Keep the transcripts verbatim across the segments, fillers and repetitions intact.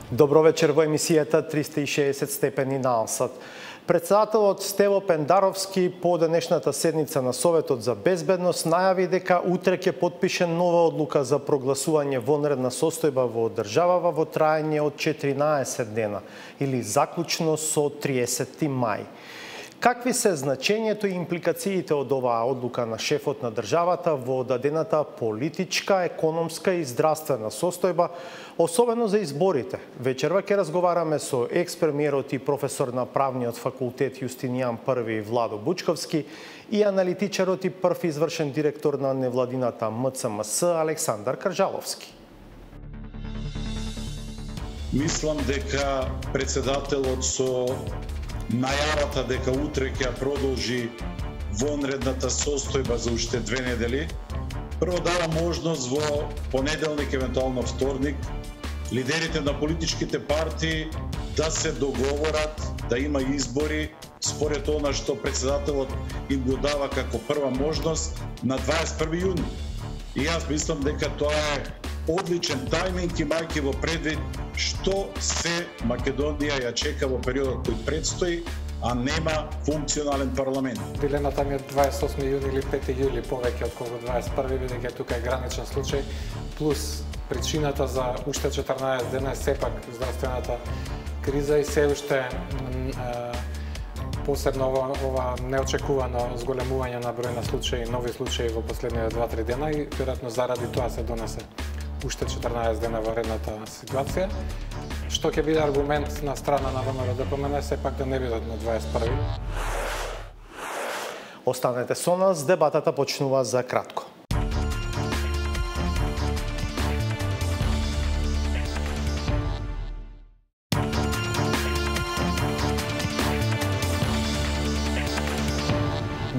Добро вечер во емисијата триста и шеесет степени наосад. Председателот Стево Пендаровски по денешната седница на Советот за безбедност најави дека утре ќе потпише нова одлука за прогласување вонредна состојба во државава во траење од четиринаесет дена или заклучно со триесети мај. Какви се значењето и импликациите од оваа одлука на шефот на државата во дадената политичка, економска и здравствена состојба, особено за изборите? Вечерва ќе разговараме со екс-премиерот и професор на правниот факултет Јустинијан Први Владо Бучковски и аналитичарот и прв извршен директор на невладината М Ц М С Александар Каржаловски. Мислам дека председателот со најавата дека утре ќе продолжи вонредната состојба за уште две недели, прво дава можност во понеделник, евентуално вторник, лидерите на политичките партии да се договорат, да има избори според она што председателот им го дава како прва можност на дваесет и први јуни. И јас мислам дека тоа е одличен тајминг, имајќи во предвид што се Македонија ја чека во периодот кој предстои, а нема функционален парламент. Дилемата ми е дваесет и осми јуни или пети јули повеќе отколку дваесет и први, бидејќи тука е граничен случај, плюс причината за уште четрнаесет дена е сепак здравствената криза и се уште посебно ова, ова неочекувано зголемување на број на случаи, нови случаи во последните два-три дена и веројатно заради тоа се донесе уште четрнаесет дена во редната ситуација, што ќе биде аргумент на страна на ВМРО Д П М Н сепак да не бидат на дваесет и први. Останете со нас, дебатата почнува за кратко.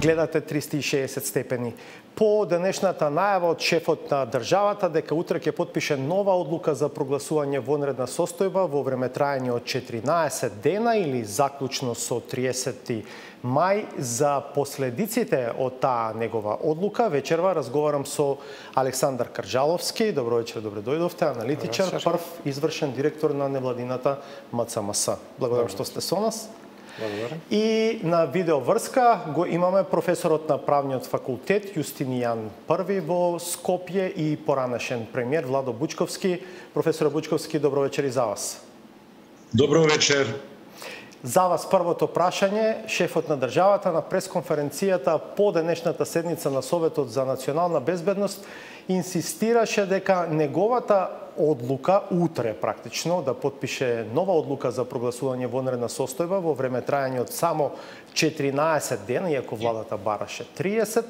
Гледате триста и шеесет степени. По денешната најава од шефот на државата дека утре ќе потпише нова одлука за прогласување вонредна состојба во време траење од четиринаесет дена или заклучно со триесети мај за последиците од таа негова одлука, вечерва разговарам со Александар Каржаловски. Добро вечер, добре дојдовте, аналитичар, прв извршен директор на невладината М Ц М С. Благодарам што сте со нас. Благодарам. И на видеоврска го имаме професорот на правниот факултет Јустинијан Први во Скопје и поранешен премиер Владо Бучковски. Професор Бучковски, добро вечер и за вас. Добро вечер. За вас првото прашање, шефот на државата на пресконференцијата по денешната седница на Советот за национална безбедност инсистираше дека неговата одлука утре практично да потпише нова одлука за прогласување вонредна состојба во време траење од само четиринаесет дена, иако владата бараше триесет,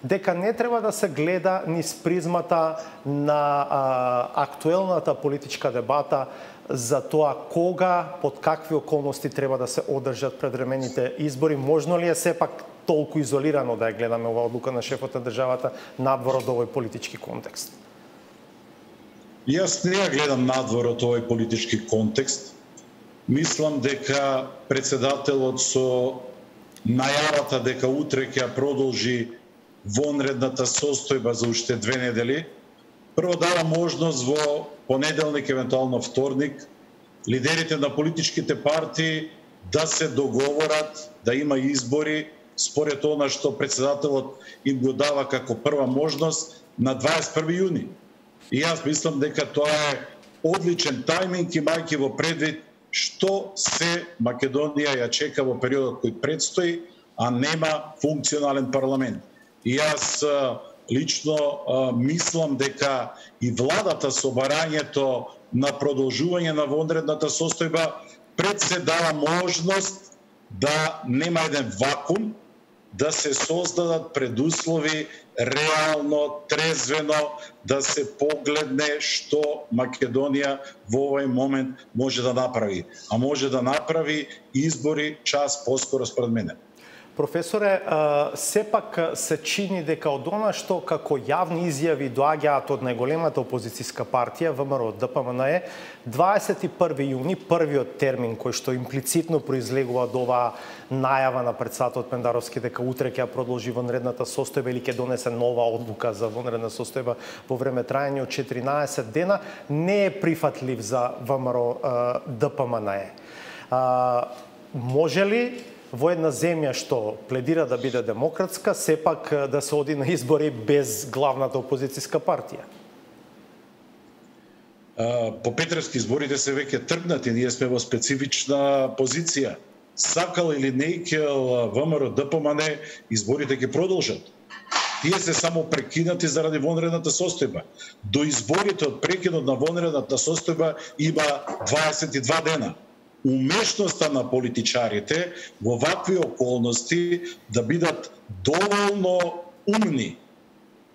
дека не треба да се гледа низ призмата на а, актуелната политичка дебата за тоа кога, под какви околности треба да се одржат предвремените избори. Можно ли е сепак толку изолирано да ја гледаме оваа одлука на шефот на државата надвор од овој политички контекст? Јас не ја гледам надвор од овој политички контекст. Мислам дека председателот со најавата дека утре ќе продолжи вонредната состојба за уште две недели, прво дава можност во понеделник, евентуално вторник, лидерите на политичките партии да се договорат, да има избори според она што председателот им го дава како прва можност на дваесет и први јуни. И јас мислам дека тоа е одличен тајминг, имајќи во предвид што се Македонија ја чека во периодот кој предстои, а нема функционален парламент. И јас лично мислам дека и владата со барањето на продолжување на вонредната состојба пред се дава можност да нема еден вакуум, да се создадат предуслови реално, трезвено, да се погледне што Македонија во овој момент може да направи. А може да направи избори час поскоро според мене. Професоре, сепак се чини дека од она што како јавни изјави доаѓаат од најголемата опозицијска партија ВМРО Д П М Н Е, дваесет и први јуни, првиот термин кој што имплицитно произлегува од оваа најава на председателот Пендаровски дека утре ќе продолжи вонредната состојба или ќе донесе нова одлука за вонредна состојба во време трајање од четиринаесет дена, не е прифатлив за ВМРО Д П М Н Е. Може ли во една земја што пледира да биде демократска, сепак да се оди на избори без главната опозицијска партија? По Петревски изборите се веќе тргнати, ние сме во специфична позиција. Сакал или не икел ВМРО Д П М Н Е, изборите ќе продолжат. Тие се само прекинати заради вонредната состојба. До изборите од прекинот на вонредната состојба има дваесет и два дена. Умешноста на политичарите во вакви околности да бидат доволно умни,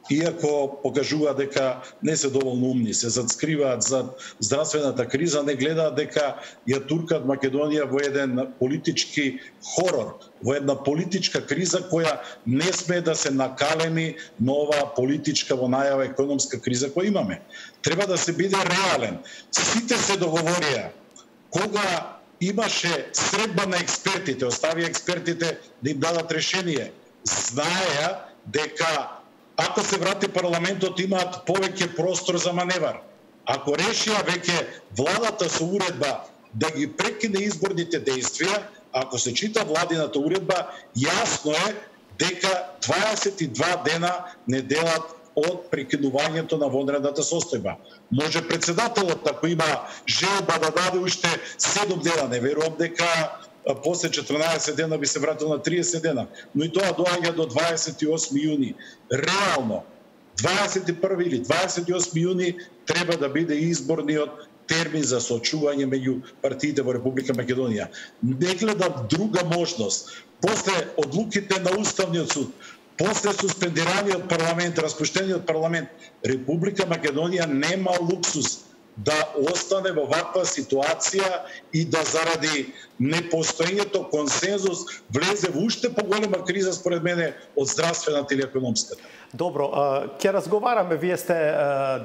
иако покажуваат дека не се доволно умни, се затскриваат за здравствената криза, не гледаат дека ја туркат Македонија во еден политички хорор, во една политичка криза која не смее да се накалеми на оваа политичка во најава економска криза која имаме. Треба да се биде реален. Сите се договорија. Кога имаше средба на експертите, остави експертите да им дадат решение, знаеа дека ако се врати парламентот имаат повеќе простор за маневар. Ако решија веќе владата со уредба да ги прекине изборните действија, ако се чита владината уредба, јасно е дека дваесет и два дена не делат од прекинувањето на вонредната состојба. Може председателот, ако има желба да даде уште седум дена, не верувам дека после четрнаесет дена би се вратил на триесет дена, но и тоа доаѓа до дваесет и осми јуни. Реално, дваесет и први или дваесет и осми јуни треба да биде изборниот термин за соочување меѓу партиите во Република Македонија. Не гледам друга можност. После одлуките на Уставниот суд, после суспендираниот парламент, распуштениот парламент, Република Македонија нема луксус да остане во ваква ситуација и да заради непостоењето консензус влезе во уште поголема криза според мене од здравствената или економската. Добро, ќе разговараме, вие сте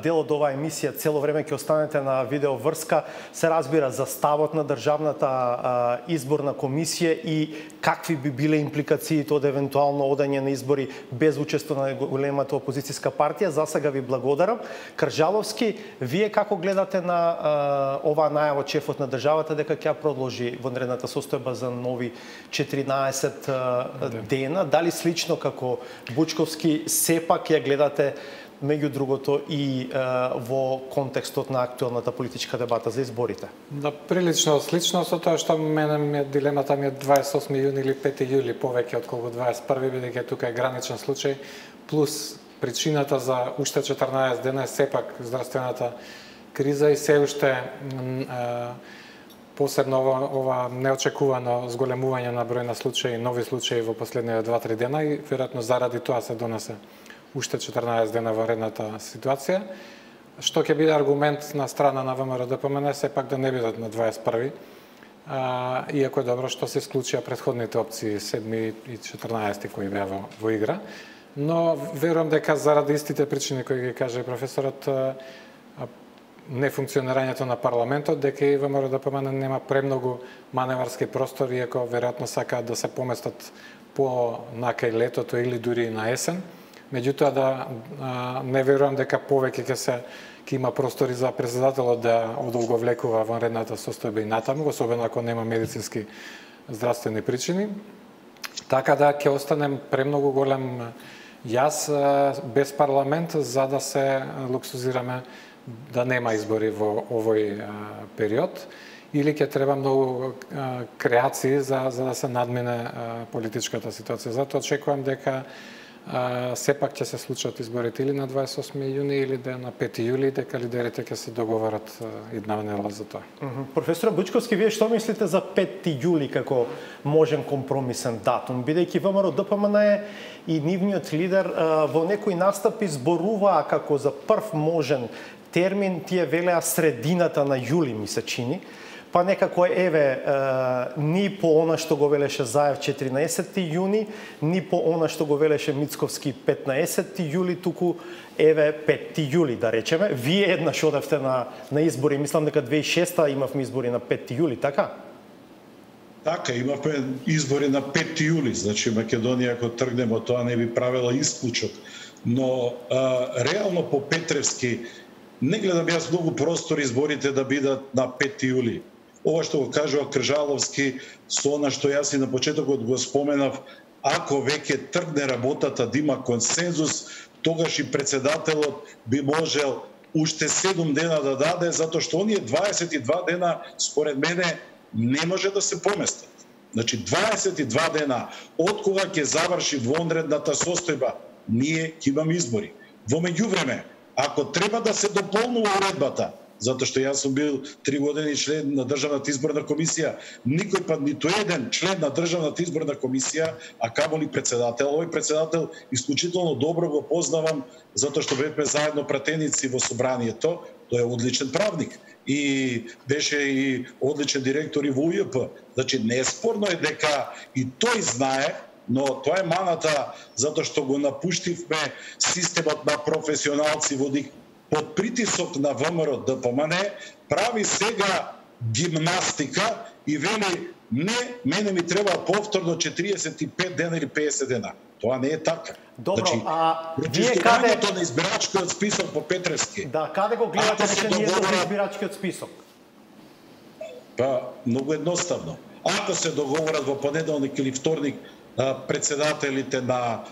дел од оваа емисија, цело време ќе останете на видеоврска, се разбира за ставот на Државната изборна комисија и какви би биле импликациите од евентуално одање на избори без учество на големата опозицијска партија. За сега ви благодарам. Кржаловски, вие како гледате на оваа најава од шефот на државата дека ќе продолжи вонредната состојба за нови четиринаесет дена? Дали слично како Бучковски сепак ја гледате меѓу другото и е, во контекстот на актуелната политичка дебата за изборите? Да, прилично слично со тоа што мене ми дилемата ми е дваесет и осми јуни или пети јули повеќе отколку дваесет и први, бидејќи тука е граничен случај, плюс причината за уште четрнаесет дена е сепак здравствената криза и се уште е, посебно ова, ова неочекувано зголемување на број на случаи, нови случаи во последните два-три дена и веројатно заради тоа се донесе уште четрнаесет дена варедната ситуација, што ќе биде аргумент на страна на ВМРО Д П М Н Е сепак да не бидат на дваесет и први, а, иако е добро што се исклучија претходните опции седми и четрнаесети кои беа во, во игра, но верувам дека заради истите причини кои ги каже професорот, нефункционирањето на парламентот, дека и ВМРО Д П М Н нема премногу маневарски простор, иако веројатно сакаат да се поместат по накај летото или дури на есен. Меѓутоа да а, не верувам дека повеќе ќе се ќе има простори за председателот да одолговлекува вонредната состојба и натаму, особено ако нема медицински здравствени причини. Така да ќе останем премногу голем јас без парламент за да се луксузираме да нема избори во овој а, период, или ќе треба многу а, креации за, за да се надмине а, политичката ситуација. Затоа очекувам дека а, сепак ќе се случат изборите или на дваесет и осми јуни или да на пети јули, дека лидерите ќе се договорат идна недела за тоа. Mm -hmm. Професор Бучковски, вие што мислите за пети јули како можен компромисен датум, бидејќи ВМРО Д П М Н Е и нивниот лидер а, во некои настапи зборуваа како за прв можен термин, тие велеа средината на јули, ми се чини. па некако еве ни по она што го велеше Заев четиринаесетти јуни, ни по она што го велеше Мицковски петнаесетти јули, туку еве петти јули да речеме. Вие еднаш одевте на на избори, мислам дека две илјади и шеста имавме избори на петти јули, така? Така, имавме избори на петти јули, значи Македонија ако тргнеме од тоа не би правила исклучок, но а, реално по Петревски не гледам јас многу простор изборите да бидат на петти јули. Ова што го кажува Кржаловски, со она што јас и на почетокот го споменав, ако веќе тргне работата да има консензус, тогаш и председателот би можел уште седум дена да даде, затоа што оние дваесет и два дена, според мене, не може да се поместат. Значи, дваесет и два дена, од кога ќе заврши вонредната состојба, ние ќе имаме избори. Во меѓувреме, ако треба да се дополнува уредбата, затоа што јас сум бил три години член на Државната изборна комисија, никој пат ниту еден член на Државната изборна комисија, а камоли председател, овој председател исклучително добро го познавам, затоа што бевме заедно пратеници во собранието, тој е одличен правник и беше и одличен директор и во У Ј П. Значи, неспорно е дека и тој знае, но тоа е маната затоа што го напуштивме системот на професионалци водик под притисок на Вэ М Р Д П М Н, прави сега гимнастика и вели не, мене ми треба повторно четириесет и пет дена или педесет дена. Тоа не е така. Добро, значи, а вие каде на избирачкиот список по Петревски? Да, каде го гледате дека не е за избирачкиот список? Па, многу едноставно. Ако се договорат во понеделник или вторник председателите на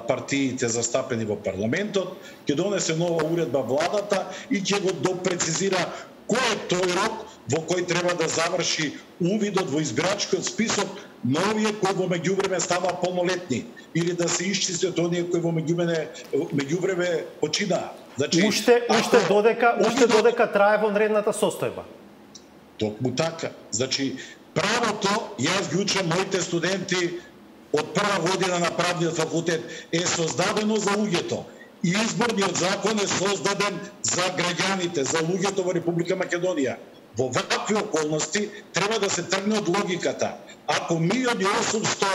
партиите застапени во парламентот, ќе донесе нова уредба владата и ќе го допрецизира кој е тој рок во кој треба да заврши увидот во избирачкиот список на овие кои во меѓувреме става полнолетни или да се исчистат оние кои во меѓувреме меѓувреме починаа. Значи, уште уште додека уште додека трае вонредната состојба. Токму така. Значи, правото, јас ги учам моите студенти од прва година на правниот факултет, е создадено за луѓето. И изборниот закон е создаден за граѓаните, за луѓето во Република Македонија. Во вакви околности треба да се тргне од логиката. Ако милиони и осумсто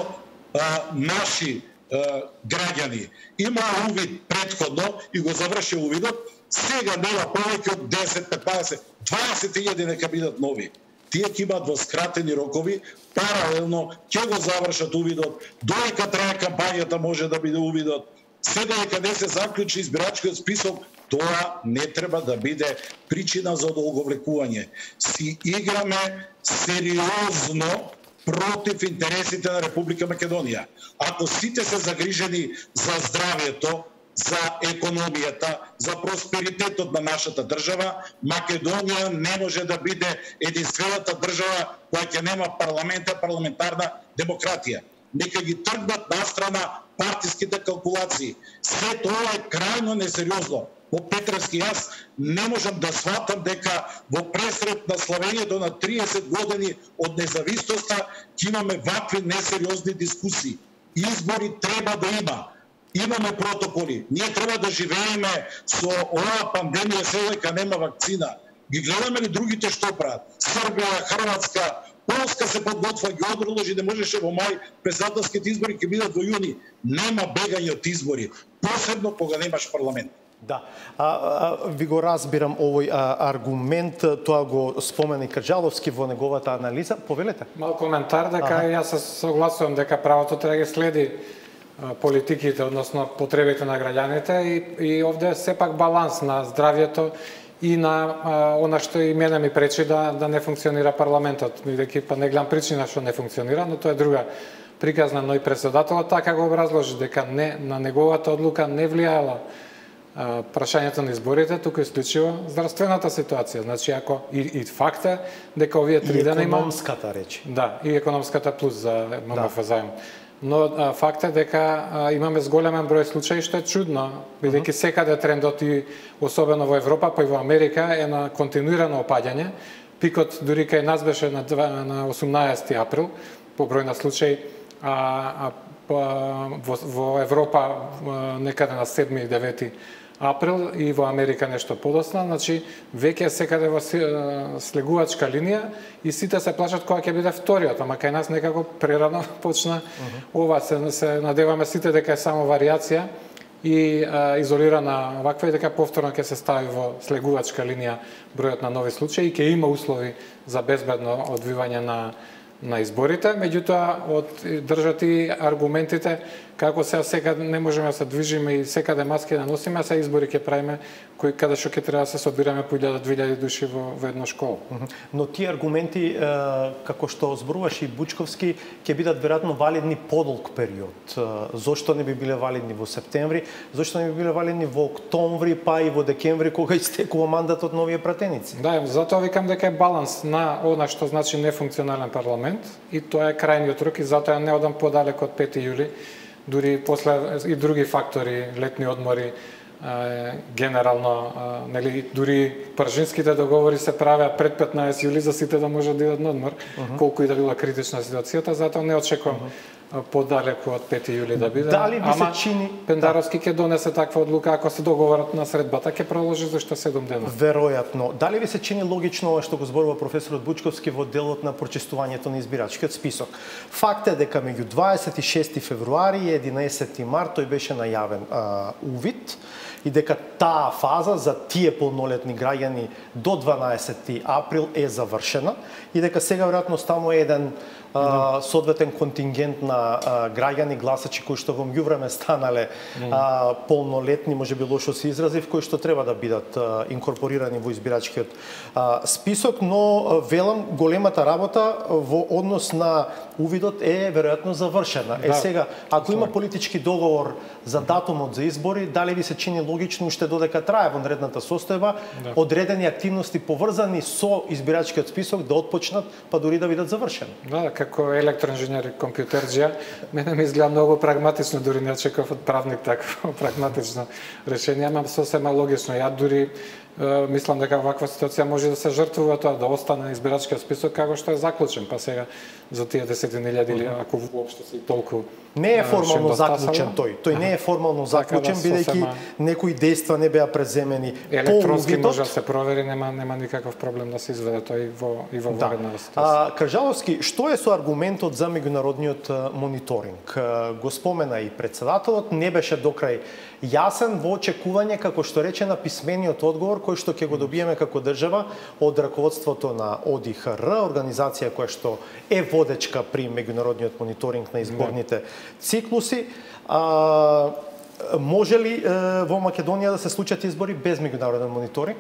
а, наши а, граѓани има увид претходно и го заврши увидот, сега нема повеќе од десет, петнаесет, дваесет илјади нека бидат нови. Тие ќе имаат во скратени рокови, паралелно ќе го завршат увидот, додека трае кампањата може да биде увидот, се додека не се заклучи избирачкиот список, тоа не треба да биде причина за одолговлекување. Си играме сериозно против интересите на Република Македонија. Ако сите се загрижени за здравјето, за економијата, за просперитетот на нашата држава, Македонија не може да биде единствената држава која ќе нема парламент, парламентарна демократија. Нека ги тргнат настрана партиските калкулации. Се тоа е крајно несериозно. По Петревски јас не можам да сватам дека во пресрет на славењето на триесет години од независноста ќе имаме вакви несериозни дискусии. Избори треба да има. Имаме протоколи. Ние треба да живееме со оваа пандемија се дека нема вакцина. Ги гледаме ли другите што прават? Србија, Хрватска, Полска се подготвува, ги одложи, не можеше во мај, председателските избори ќе бидат во јуни. Нема бегање од избори, посебно кога немаш парламент. Да, а, а, ви го разбирам овој а, аргумент, тоа го спомена и Крджаловски во неговата анализа. Повелете. Мал коментар дека ага. Јас се согласувам дека правото треба да ги следи политиките, односно потребите на граѓаните и, и овде е сепак баланс на здравјето и на а, она што и мене ми пречи да, да не функционира парламентот, бидејќи па не гледам причина што не функционира, но тоа е друга приказна, но и председателот така го образложи дека не, на неговата одлука не влијала а, прашањето на изборите, туку исклучиво здравствената ситуација. Значи ако и, и факт е дека овие три дена има економската речи. Да, и економската плюс за М М Ф заем. Но а, факт е дека а, имаме зголемен број случаи, што е чудно, бидејќи секаде трендот и особено во Европа, па и во Америка е на континуирано опаѓање. Пикот дури кај нас беше на, на осумнаесети април по број на случаи, а, а во, во Европа некаде на седми и девети април и во Америка нешто подоцна, значи веќе секаде во слегувачка линија и сите се плашат кога ќе биде вториот, ама кај нас некако прерано почна. Uh-huh. Ова се, се надеваме сите дека е само варијација и а, изолирана ваква и дека повторно ќе се стави во слегувачка линија бројот на нови случаи и ќе има услови за безбедно одвивање на на изборите, меѓутоа од држат и аргументите како се секаде не можеме да се движиме и секаде маски да носиме, а се избори ќе правиме кои каде што ќе треба да се собираме по илјада-две илјади души во, во една школа. Но тие аргументи, како што зборуваше и Бучковски, ќе бидат веројатно валидни подолг период. Зошто не би биле валидни во септември, зошто не би биле валидни во октомври, па и во декември, кога истекува мандатот новија пратеници? Да, затоа викам дека е баланс на она што значи нефункционален парламент и тоа е крајниот рок и затоа не одам подалек од пети јули. Дури после и други фактори, летни одмори, генерално, нели, дури пржинските договори се правеа пред петнаесет јули за сите да можат да идат на одмор, uh-huh. колку и да била критична ситуацијата, затоа не очекувам uh-huh. подалеку од пети јули да биде. Дали би Ама се чини Пендаровски ќе донесе таква одлука ако се договорат на средбата, ќе продолжи за уште седум дена. Веројатно. Дали ви се чини логично ова што го зборува професорот Бучковски во делот на прочистувањето на избирачкиот список? Факт е дека меѓу дваесет и шести февруари и единаесети март тој беше најавен а, увид и дека таа фаза за тие полнолетни граѓани до дванаесети април е завршена и дека сега веројатно станува еден а, соодветен контингент на а, граѓани гласачи кои што во меѓувреме станале а, полнолетни, можеби лошо се изразив, кои што треба да бидат а, инкорпорирани во избирачкиот а, список, но а, велам големата работа во однос на увидот е веројатно завршена. Е Да. сега, ако има политички договор за датумот за избори, дали ви се чини логично уште додека трае вонредната состојба, Да. одредени активности поврзани со избирачкиот список да отпочнат, па дури да бидат завршени? Да, како електроинженер и компјутерџија, мене ми изгледа многу прагматично, дури не очекував од правник такво прагматично решение, ама сосема логично. Ја дури е, мислам дека ваква ситуација може да се жртвува тоа, да остане избирачкиот список како што е заклучен, па сега за тие десетини илјади или ако воопшто се и толку Не е формално да заклучен тој. Тој не е формално заклучен, да бидејќи сосема... некои дејства не беа преземени електронски по увидот. може да се провери, нема нема никаков проблем да се изведе тој и во и во Да. воредна ситуација. А, Кржаловски, што е со аргументот за меѓународниот а, мониторинг? А, Го спомена и председателот, не беше докрај јасен во очекување, како што рече, на писмениот одговор кој што ќе го добиеме како држава од раководството на О Д И Х Р, организација која што е водечка при меѓународниот мониторинг на изборните циклуси. А, може ли е, во Македонија да се случат избори без меѓународен мониторинг?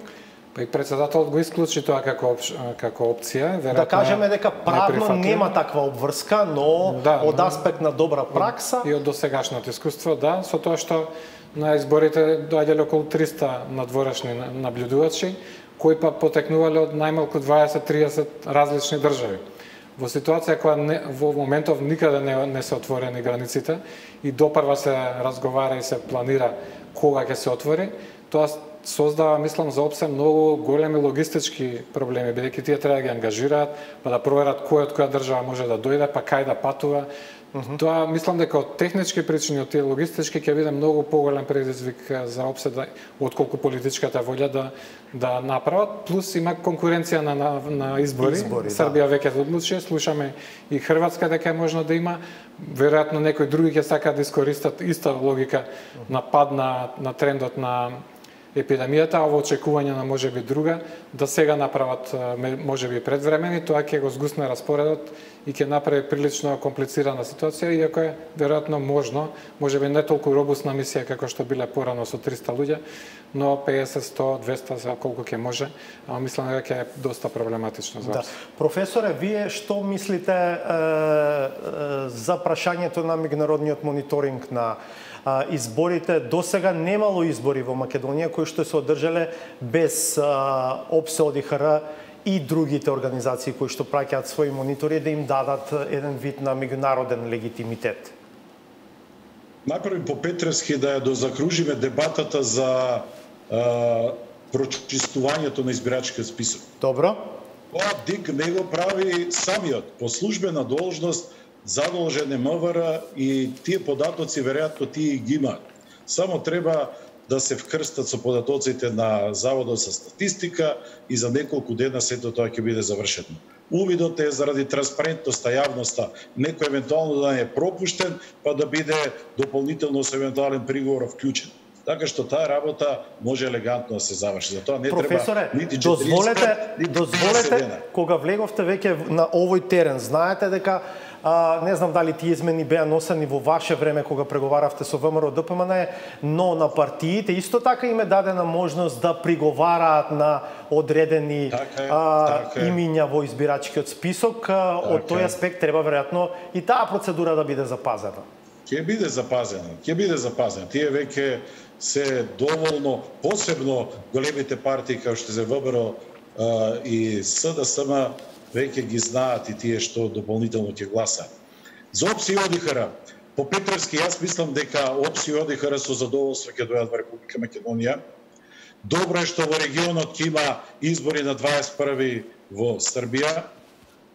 Па и председателот го исклучи тоа како опш... како опција, веројатно. Да кажеме дека правно неприфатлив. нема таква обврска, но Да, од но- аспект на добра пракса И од досегашното искуство, да, со тоа што на изборите доаѓале околу триста надворешни наблюдувачи, кои па потекнувале од најмалку дваесет до триесет различни држави. Во ситуација која не, во моментов никаде не, не се отворени границите и допрва се разговара и се планира кога ќе се отвори, тоа создава, мислам, за ОПСЕ многу големи логистички проблеми, бидејќи тие треба да ги ангажираат, па да проверат кој од која држава може да дојде, па кај да патува. Mm-hmm. Тоа мислам дека од технички причини, од тие логистички ќе биде многу поголем предизвик за ОПСЕ да, отколку политичката волја да да направат, плюс има конкуренција на на, на избори. Избори, Србија веќе се одлучи, слушаме и Хрватска дека е можно да има, веројатно некои други ќе сакаат да искористат иста логика на пад на на трендот на епидемијата, а во очекување на можеби друга, да сега направат можеби предвремени, тоа ќе го згусне распоредот и ќе направи прилично комплицирана ситуација, иако е веројатно можно, можеби не толку робусна мисија како што биле порано со триста луѓе, но песет, сто, двеста за колку ќе може, а мислам дека ќе е доста проблематично за Да. вас. Професоре, вие што мислите е, е, за прашањето на меѓународниот мониторинг на а, изборите? До сега немало избори во Македонија кои што се одржале без а, ОПСЕ, О Д И Х Р и другите организации кои што праќаат своји монитори да им дадат еден вид на меѓународен легитимитет. Направим по Петревски да ја дозакружиме дебатата за а, прочистувањето на избирачкиот список. Добро? Тоа ДИК не го прави самиот, по службена должност задолжен е М В Р и тие податоци веројатно тие ги имаат. Само треба да се вкрстат со податоците на Заводот за статистика и за неколку дена сето тоа ќе биде завршено. Увидот е заради транспарентноста, јавноста, некој евентуално да не е пропуштен, па да биде дополнително со евентуален приговор вклучен. Така што таа работа може елегантно да се заврши. Затоа не Професоре, треба нити дозволете, нити дозволете кога влеговте веќе на овој терен, знаете дека А, не знам дали тие измени беа носени во ваше време кога преговаравте со ВМРО Д П М Н, но на партиите исто така им е дадена можност да приговараат на одредени така е, а, така е. имиња во избирачкиот список. А, така од тој аспект треба веројатно и таа процедура да биде запазена. Ќе биде запазена, ќе биде запазена. Тие веќе се доволно, посебно големите партии како што се ВМРО и С Д С М, веќе ги знаат и тие што дополнително ќе гласаат. За О П С и О Д И Х Р, по Петровски, јас мислам дека О П С и О Д И Х Р со задоволство ќе дојдат во Република Македонија. Добро е што во регионот ќе има избори на дваесет и први во Србија.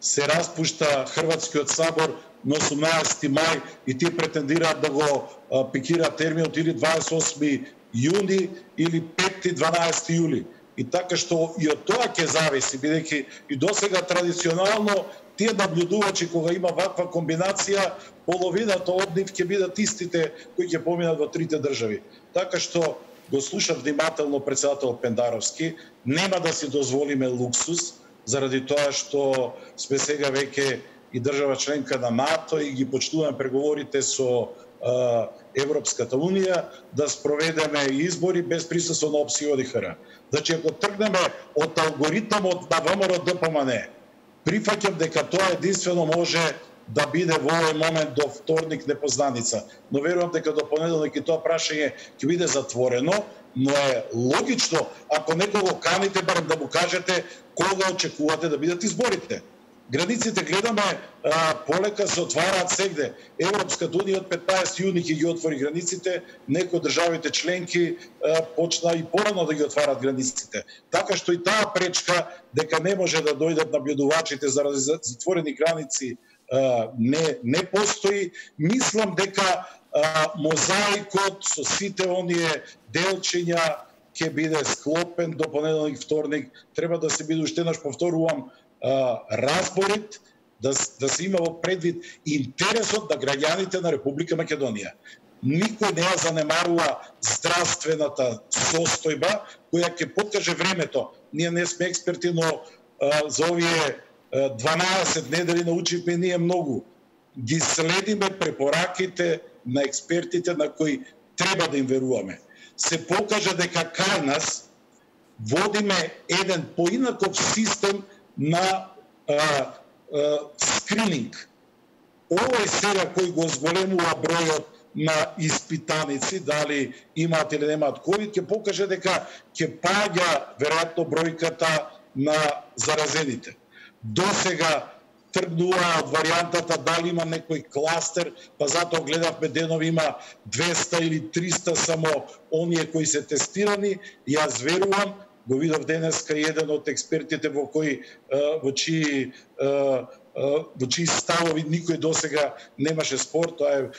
Се распушта Хрватскиот сабор на осумнаесети мај и тие претендираат да го пикираат терминот или дваесет и осми јуни или пети дванаесети јули. И така што и од тоа ќе зависи, бидејќи и досега традиционално тие наблюдувачи кога има ваква комбинација, половината од нив ќе бидат истите кои ќе поминат во трите држави. Така што го слушав внимателно председател Пендаровски, нема да си дозволиме луксус, заради тоа што сме сега веќе и држава членка на НАТО и ги почнуваме преговорите со Европската Унија да спроведеме избори без присуство на О П С и О Д И Х Р. Значи, ако тргнеме од алгоритмот на ВМРО Д П М Н, прифаќам дека тоа единствено може да биде во овој момент до вторник непознаница. Но верувам дека до понеделник и тоа прашање ќе биде затворено, но е логично, ако некого каните, барем да му кажете кога очекувате да бидат изборите. Границите гледаме а, полека се отвараат сегде. Европската унија од петнаесети јуни ќе ги отвори границите, некои од државите членки а, почна и порано да ги отварат границите. Така што и таа пречка дека не може да дојдат наблюдувачите заради затворени граници а, не не постои. Мислам дека а, мозаикот со сите оние делчиња ќе биде склопен до понеделник, вторник. Треба да се биде уште еднаш, повторувам, разборит, да, да се има во предвид интересот на граѓаните на Република Македонија. Никој не ја занемарува здравствената состојба која ќе покаже времето. Ние не сме експерти, но а, за овие дванаесет недели научивме ние многу. Ги следиме препораките на експертите на кои треба да им веруваме. Се покажа дека кај нас водиме еден поинаков систем на а, а, скрининг. Овој сега кој го зголемува бројот на испитаници, дали имаат или немаат ковид, ќе покаже дека ќе паѓа веројатно бројката на заразените. Досега тргнува од варијантата дали има некој кластер, па затоа гледавме денови има двеста или триста само оние кои се тестирани. Јас верувам, го видов денеска еден од експертите во кои во чии во чии ставови никој досега немаше спор, тоа е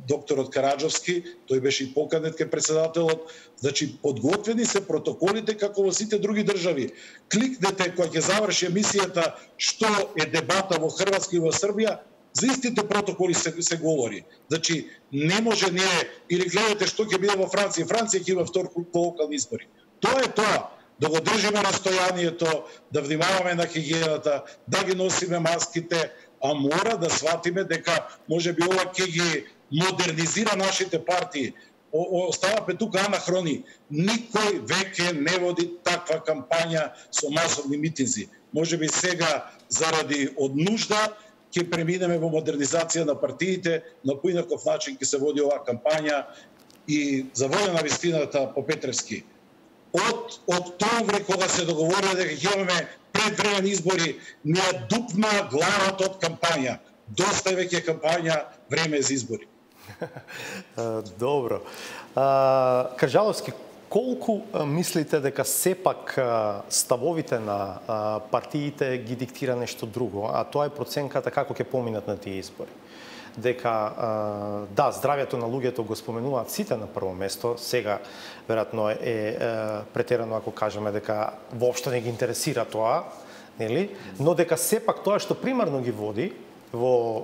докторот Караджовски, тој беше и поканет кај председателот. Значи, подготвени се протоколите како во сите други држави. Кликнете кога ќе заврши емисијата што е дебата во Хрватска и во Србија, за истите протоколи се, се говори. Значи, не може ние, или гледате што ќе биде во Франција, Франција ќе има втор круг по локални избори. Тоа е тоа. Да го држиме настојанието, да внимаваме на хигиената, да ги носиме маските, а мора да сватиме дека може би ова ќе ги модернизира нашите партии. Оставаме тука анахрони. Никој веќе не води таква кампања со масовни митинзи. Може би сега, заради од нужда, ќе преминеме во модернизација на партиите, на поинаков начин ќе се води оваа кампања. И за волја на вистината, по Петревски, од октомври кога се договорија дека ќе имаме предвремени избори, не ја дупна главата од кампања. Доста е веќе кампања, време за избори. Добро. Кажаловски, колку мислите дека сепак ставовите на партиите ги диктира нешто друго, а тоа е проценката како ќе поминат на тие избори? дека да, здравјето на луѓето го споменуваат сите на прво место, сега веројатно е, е претерано ако кажеме дека воопшто не ги интересира тоа, нели? Но дека сепак тоа што примарно ги води во е,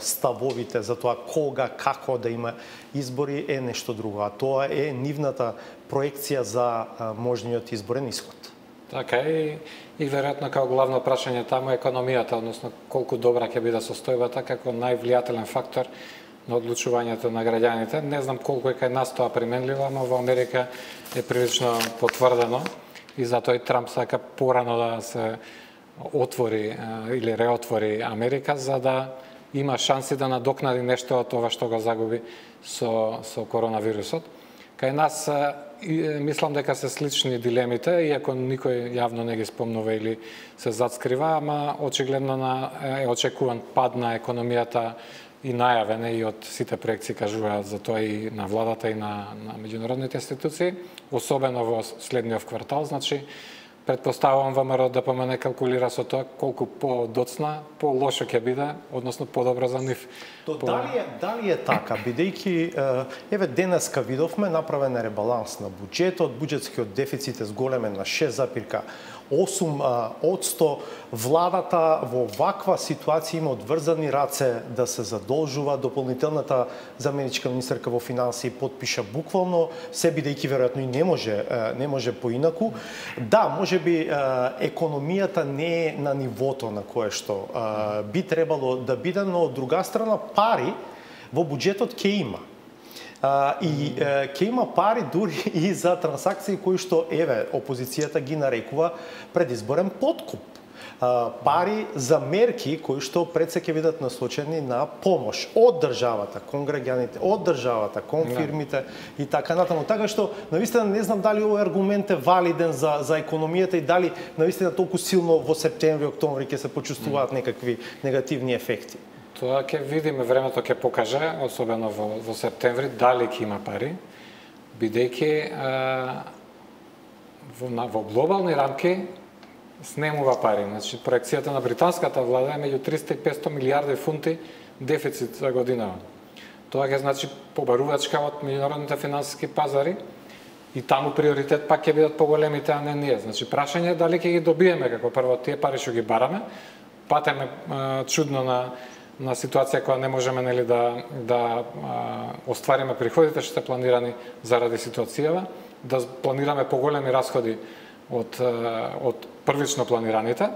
ставовите за тоа кога, како да има избори е нешто друго, а тоа е нивната проекција за е, можниот изборен исход. Така и, и веројатно како главно прашање таму е економијата, односно колку добра ќе биде состојбата како највлијателен фактор на одлучувањето на граѓаните. Не знам колку е кај нас тоа применливо, но во Америка е прилично потврдено и затоа и Трамп сака порано да се отвори или реотвори Америка за да има шанси да надокнади нешто од тоа што го загуби со со коронавирусот. Кај нас мислам дека се слични дилемите, иако никој јавно не ги спомнува или се зацкрива, ама очигледно на е очекуван пад на економијата и најавен и од сите проекции кажуваат за тоа и на владата и на, на меѓународните институции, особено во следниот квартал, значи претпоставувам ВМРО да помене калкулира со тоа колку по-доцна, по-лошо ќе биде, односно подобро за нив. То по... дали, е, дали е така, бидејќи еве денеска видовме направен е ребаланс на буџетот, буџетскиот дефицит е зголемен на шест запирка осум одсто, владата во ваква ситуација има одврзани раце да се задолжува, дополнителната заменичка министерка во финансии потпиша буквално, се бидејќи веројатно и не може не може поинаку. Да, можеби економијата не е на нивото на кое што би требало да биде, но од друга страна пари во буџетот ќе има. Uh, и uh, ќе има пари дури и за трансакции кои што еве опозицијата ги нарекува предизборен подкуп. Uh, пари за мерки кои што пред се ќе бидат насочени на помош од државата кон граѓаните, од државата кон фирмите и така натаму. Така што навистина не знам дали овој аргумент е валиден за за економијата и дали навистина толку силно во септември, октомври ќе се почувствуваат некакви негативни ефекти. Тоа ќе видиме, времето ќе покаже, особено во, во септември, дали ќе има пари, бидејќи во, во глобални рамки снемува пари. Значи, проекцијата на британската влада е меѓу триста и петстотини милиарди фунти дефицит за година. Тоа ќе значи побарувачка од меѓународните финансиски пазари и таму приоритет пак ќе бидат поголемите, а не ние. Значи, прашање е дали ќе ги добиеме како прво тие пари што ги бараме, патеме чудно на на ситуација која не можеме нели да да а, оствариме приходите што се планирани заради ситуацијава, да планираме поголеми расходи од од првично планираните,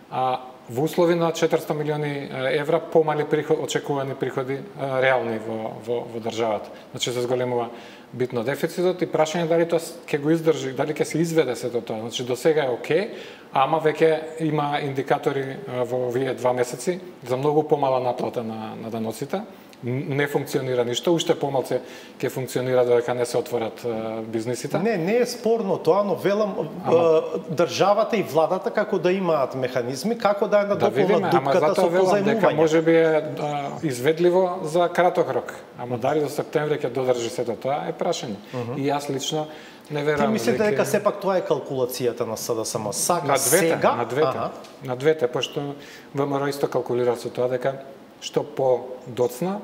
а во услови на четиристотини милиони евра помали приход, очекувани приходи а, реални во во во државата. Значи се зголемува битно дефицитот и прашање дали тоа ќе го издржи, дали ќе се изведе сето тоа. Значи до сега е окей, ама веќе има индикатори во овие два месеци за многу помала наплата на на даноците. Не функционира ништо, уште помалку ќе функционира додека не се отворат бизнисите. Не, не е спорно тоа, но велам ама... државата и владата како да имаат механизми, како да е надополнат да дупката со позајмување. Дека можеби е а, изведливо за краток рок, ама дали до септември ќе додржи сето тоа е прашање. Uh -huh. И јас лично не верувам. Ти мислите дека сепак тоа е калкулацијата на СДСМ? Сака на двете, сега? На двете, ага. на двете, пошто ВМРО исто калкулира со тоа дека што по-доцна,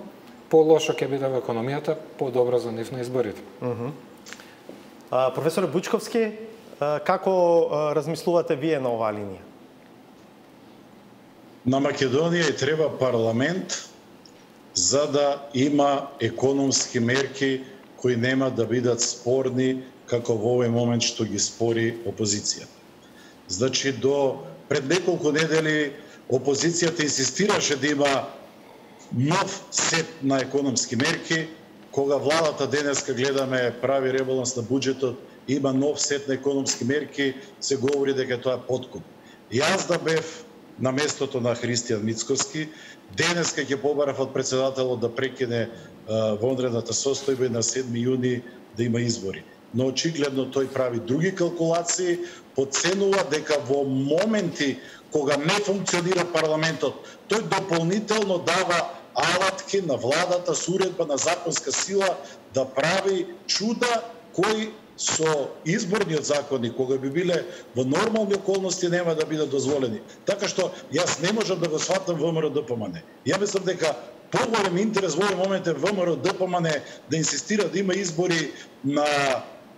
по-лошо ќе биде во економијата, по-добро за нив на изборите. Uh -huh. а, професор Бучковски, а, како а, размислувате вие на оваа линија? На Македонија и треба парламент за да има економски мерки кои нема да бидат спорни како во овој момент што ги спори опозицијата. Значи, до пред неколку недели опозицијата инсистираше да има нов сет на економски мерки, кога владата денеска гледаме прави ребаланс на буџетот, има нов сет на економски мерки, се говори дека тоа е подкуп. Јас да бев на местото на Христијан Мицкоски, денеска ќе побарав од председателот да прекине вонредната состојба и на седми јуни да има избори. Но очигледно тој прави други калкулации, подценува дека во моменти кога не функционира парламентот, тој дополнително дава алатки на владата со уредба на законска сила да прави чуда кои со изборниот закони, кога би биле во нормални околности, нема да бидат дозволени. Така што јас не можам да го сватам ВМРО ДПМН. Ја мислам дека поголем интерес во овој момент е ВМРО ДПМН да инсистира да има избори на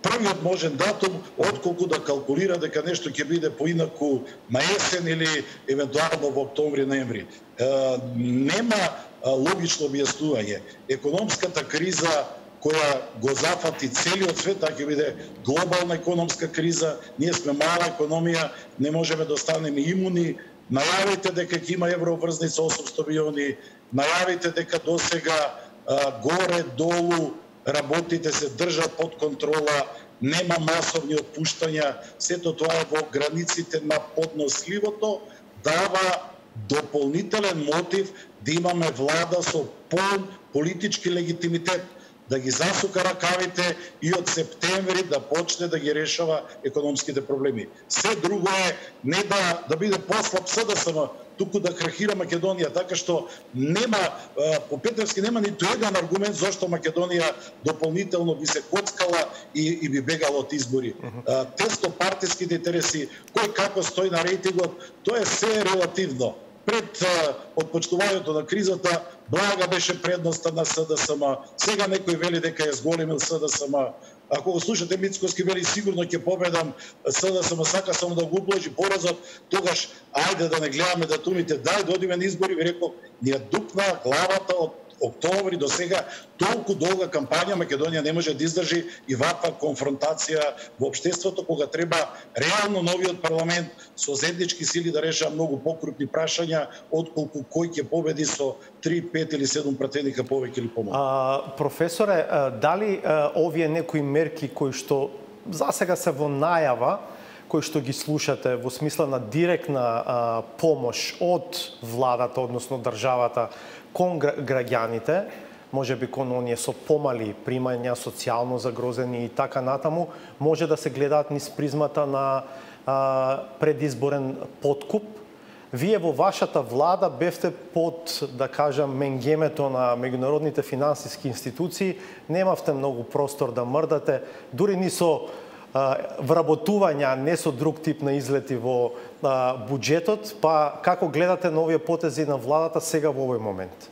првиот можен датум, отколку да калкулира дека нешто ќе биде поинаку на есен или евентуално во октомври-ноември. Нема логично објаснување. Економската криза која го зафати целиот свет, таа ќе биде глобална економска криза, ние сме мала економија, не можеме да останеме имуни. Најавите дека ќе има евроврзница осумстотини милиони, најавите дека досега горе-долу работите се држат под контрола, нема масовни отпуштања, сето тоа е во границите на подносливото, дава дополнителен мотив да имаме влада со полн политички легитимитет, да ги засука ракавите и од септември да почне да ги решава економските проблеми. Се друго е не да, да биде послаб СДСМ, туку да крахира Македонија, така што нема, по Петревски нема ниту еден аргумент зашто Македонија дополнително би се коцкала и, и би бегала од избори. Uh-huh. Теснопартиските интереси, кој како стои на рейтингот, тоа е се релативно. Пред отпочнувањето на кризата, блага беше предноста на СДСМ. Сега некој вели дека е зголемил СДСМ. Ако го слушате Мицкоски вели сигурно ќе победам СДСМ, сака само да го обложи поразот, тогаш ајде да не гледаме датумите, дај да одиме на избори, ви реков, ни дупна главата од октомври до сега, толку долга кампања Македонија не може да издржи и ваква конфронтација во општеството, кога треба реално новиот парламент со заеднички сили да решава многу покрупни прашања, отколку кој ќе победи со три, пет или седум пратеника повеќе или помалку. А, професоре, дали а, овие некои мерки кои што засега се во најава, кои што ги слушате во смисла на директна а, помош од владата, односно државата, кон граѓаните, може би кон оние со помали примања, социјално загрозени и така натаму, може да се гледаат низ призмата на а, предизборен подкуп. Вие во вашата влада бевте под, да кажам, менгемето на меѓународните финансиски институции, немавте многу простор да мрдате, дури ни со а, вработувања, не со друг тип на излети во а, буџетот, па како гледате на овие потези на владата сега во овој момент?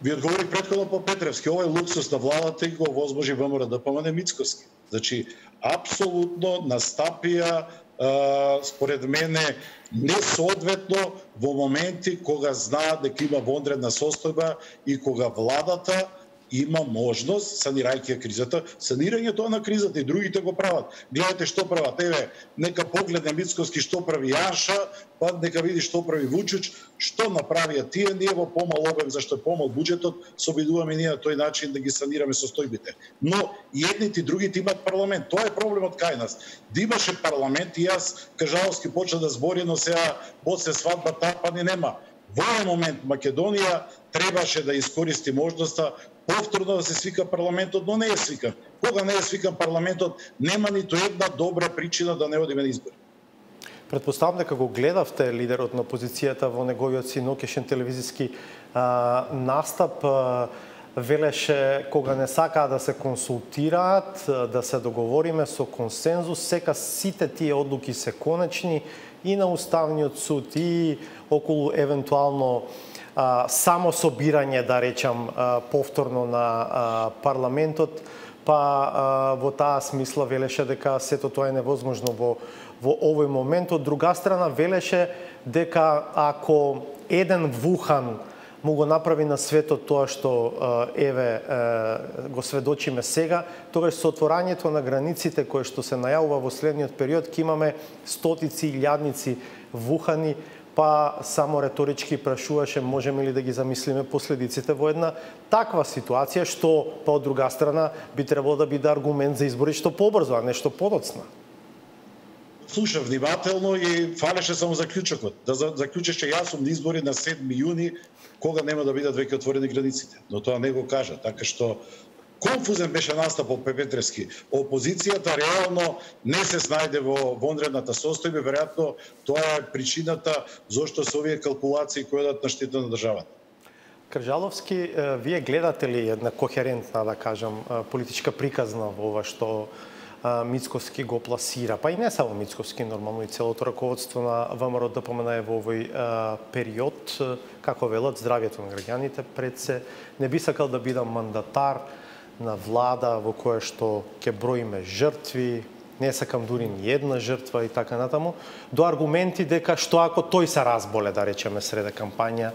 Ви одговорих претходно по Петревски. Овој луксус на владата и го возможи ВМРО ДПМН Мицкоски. Значи, апсолутно настапија, а, според мене, несоодветно во моменти кога знаат дека има вонредна состојба и кога владата има можност, санирајќи кризата, санирањето на кризата и другите го прават. Гледате што прават. Еве, нека погледне Мицкоски што прави Јанша, па нека види што прави Вучич, што направија тие, ние во помал обем, зашто е помал буџетот, се обидуваме ние на тој начин да ги санираме состојбите. Но и едните и другите имаат парламент. Тоа е проблемот кај нас. Да имаше парламент и јас кажаловски почна да збори, но сега после свадба тапа ни нема. Во овој момент Македонија требаше да искористи можноста повторно да се свика парламентот, но не е свикан. Кога не е свикан парламентот, нема ниту една добра причина да не одиме на избори. Предпоставам дека го гледавте лидерот на опозицијата во неговиот синокешен телевизиски а, настап. А, велеше кога не сакаа да се консултираат, да се договориме со консензус, сека сите тие одлуки се конечни и на Уставниот суд и околу евентуално а, само собирање, да речам, а, повторно на а, парламентот, па а, во таа смисла велеше дека сето тоа е невозможно во, во овој момент. Од друга страна велеше дека ако еден Вухан му го направи на светот тоа што еве го сведочиме сега, тогаш со отворањето на границите кое што се најавува во следниот период ќе имаме стотици илјадници Вухани, па само реторички прашуваше можеме ли да ги замислиме последиците во една таква ситуација, што па од друга страна би требало да биде аргумент за избори што побрзо, а не што подоцна. Слушав внимателно и фалеше само заклучокот. Да заклучеше јас сум на избори на седми јуни, кога нема да бидат веќе отворени границите. Но тоа не го кажа, така што конфузен беше настапот Петревски. Опозицијата реално не се снајде во вонредната состојба, веројатно тоа е причината зошто се овие калкулации кои одат на штета на државата. Кржаловски, вие гледате ли една кохерентна, да кажам, политичка приказна во ова што Мицкоски го пласира, па и не само Мицкоски, нормално и целото раководство на ВМРО ДПМН во овој период, како велат, здравјето на граѓаните пред се. Не би сакал да бидам мандатар на влада во која што ќе броиме жртви, не сакам дури ни една жртва и така натаму, до аргументи дека што ако тој се разболе, да речеме, среде кампања,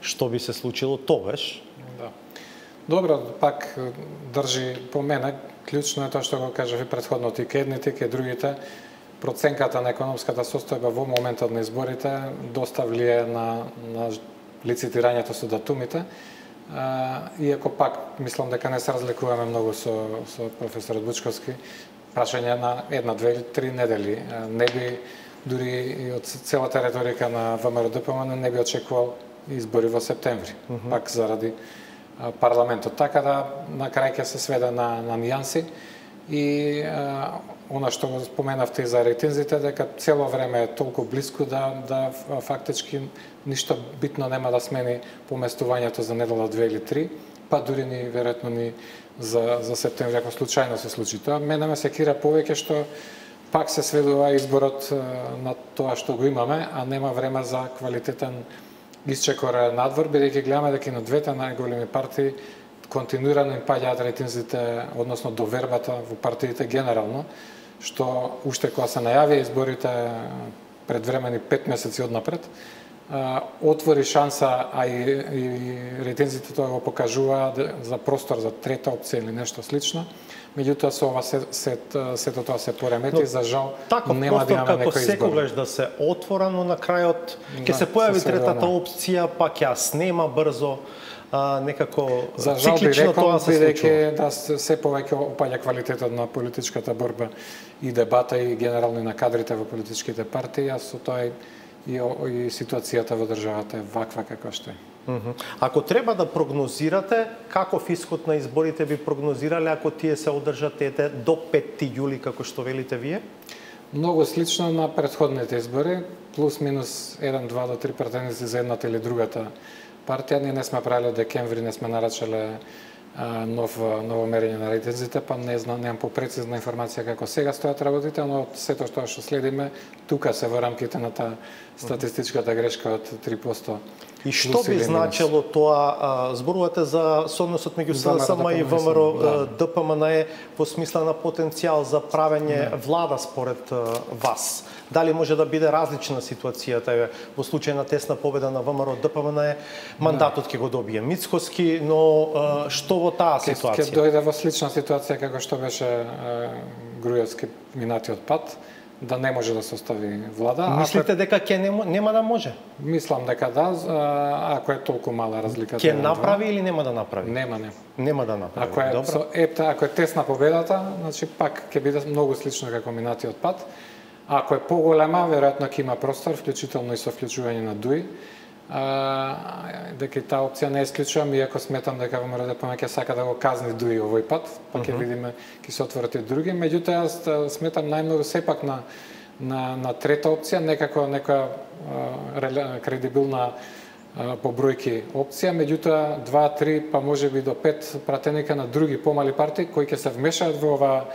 што би се случило тогаш? Да. Добро, пак држи по мене, клучно е тоа што го кажав и претходно, и ке едните, ке другите, проценката на економската состојба во моментот на изборите доста влие на, на лицитирањето со датумите. А, иако пак мислам дека не се разликуваме многу со, со професорот Бучковски, прашање на една, две или три недели. Не би, дури и од целата реторика на ВМРО ДПМН, не би очекувал избори во септември, mm -hmm. пак заради парламентот. Така да на крај ќе се сведе на, на нијанси и а, она што го споменавте и за рейтинзите, дека цело време е толку близко да, да фактички ништо битно нема да смени поместувањето за недела две или три, па дури ни веројатно ни за, за септември, ако случајно се случи тоа. Мене ме секира повеќе што пак се сведува изборот на тоа што го имаме, а нема време за квалитетен исчекор надвор, бидејќи гледаме дека и на двете најголеми партии континуирано им паѓаат рейтинзите, односно довербата во партиите генерално, што уште кога се најави изборите предвремени пет месеци однапред, отвори шанса, а и, и рейтинзите тоа го покажува за простор за трета опција или нешто слично. Меѓутоа со ова се, се, сето тоа се поремети, но, за жал нема да имаме некој избор. Таков секогаш да се отворено на крајот ќе да, се појави се третата опција, пак ја снема брзо. А, некако за жал би рекол, бидејќи да се повеќе опаѓа квалитетот на политичката борба и дебата и генерално на кадрите во политичките партии, а со тоа и, и, и ситуацијата во државата е ваква како што е. Mm -hmm. Ако треба да прогнозирате, каков исход на изборите би прогнозирале ако тие се одржат ете до петти јули, како што велите вие? Многу слично на претходните избори, плюс минус еден, два до три претенденти за едната или другата партија. Ние не сме правиле од декември, не сме нарачале а, нов, ново мерење на рейтинзите, па не знам, немам попрецизна информација како сега стојат работите, но од сето што што следиме, тука се во рамките на таа статистичката грешка од три проценти. И што би значило тоа, а, зборувате за соодносот меѓу СДСМ и ВМРО да. ДПМН во смисла на потенцијал за правење да. влада според а, вас? Дали може да биде различна ситуацијата во случај на тесна победа на ВМРО ДПМН, мандатот ќе го добие Мицкоски, но а, што во таа ситуација? Ќе дојде во слична ситуација како што беше Груевски минатиот пат, да не може да се остави влада. Мислите ако... дека ќе нема, нема да може? Мислам дека да, ако е толку мала разликата. Ќе направи или нема да направи? Нема, нема. Нема да направи. Ако е Добро. со епта, ако е тесна победата, значи пак ќе биде многу слично како минатиот пат. Ако е поголема, веројатно ќе има простор, вклучително и со вклучување на ДУИ. А, дека и таа опција не исклучувам, иако сметам дека ВМРО ДПМН ќе сака да го казни ДУИ овој пат, па ќе uh -huh. видиме, ќе се отворат и други. Меѓутоа, јас сметам најмногу сепак на, на, на трета опција, некако некоја а, кредибилна а, по бројки опција, меѓутоа два, три, па може би до пет пратеника на други помали партии кои ќе се вмешаат во ова